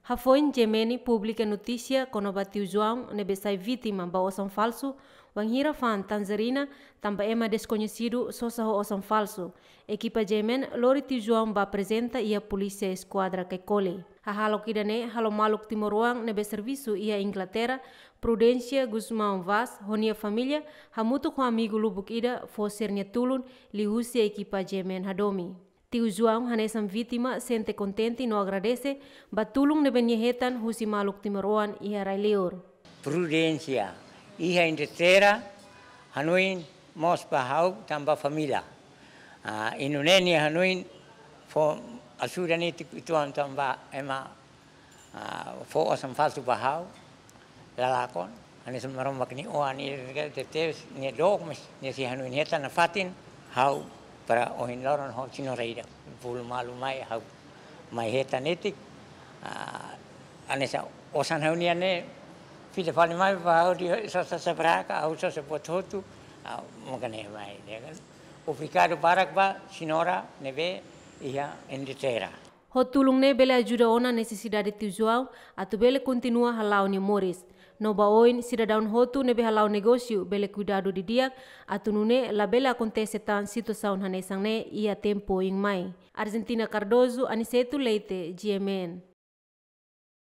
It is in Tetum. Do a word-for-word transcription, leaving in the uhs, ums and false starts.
Hafoin GMN publika notísia kona-ba tiu João ne'ebé sai vítima ba osan falsu, wainhira fa'an tanjerina, tanba ema deskoñesidu sosa ho osan falsu, ekipa GMN lori tiu João ba aprezenta iha Polísia Eskuadra Caicoli. Hahalok ida-ne'e halo maluk timoroan ne'ebé servisu iha Inglaterra, Prudência Gusmão Vaz, ho nia família, hamutuk ho amigu lubuk ida, fó sira-nia tulun liuhusi ekipa GMN hadomi. Tiu João hanesan vítima sente kontente no agradese ba tulun ne'ebé nia hetan husi maluk timoroan iha rai-liur. Prudência, iha Inglaterra, hanoin mós ba ha'u tanba família. Ah, i nune'e nia hanoin fó ajuda netik uitoan tanba ema, ah, fó osan falsu ba ha'u, la lakon. Hanesan Maromak nia oan, nia tebes, nia dook, mas nia sei hanoin hetan nafatin, ha'u para ohin loron ho senhora ida. Bolu malu mai, ha'u mai hetan netik. Ah, hanesan osan ha'u-nian ne'e, fila fali mai ba ha'u, dehan sosa sabraka, ha'u sosa buat hotu, ah, maka ne'e mai, ya kan? Obrigadu barak ba senhora ne'ebé iha Inglaterra. Ho tulun ne'e bele ajuda ona nesesidade tiu João, atu bele kontinua hala'o nia moris. No ba oin sidadaun hotu ne'ebé hala'o negósiu bele kuidadu didi'ak, atu nune'e labele akontese tan situasaun hanesan ne'e iha tempu oin mai. Argentina Cardoso, Aniceto Leite, GMN.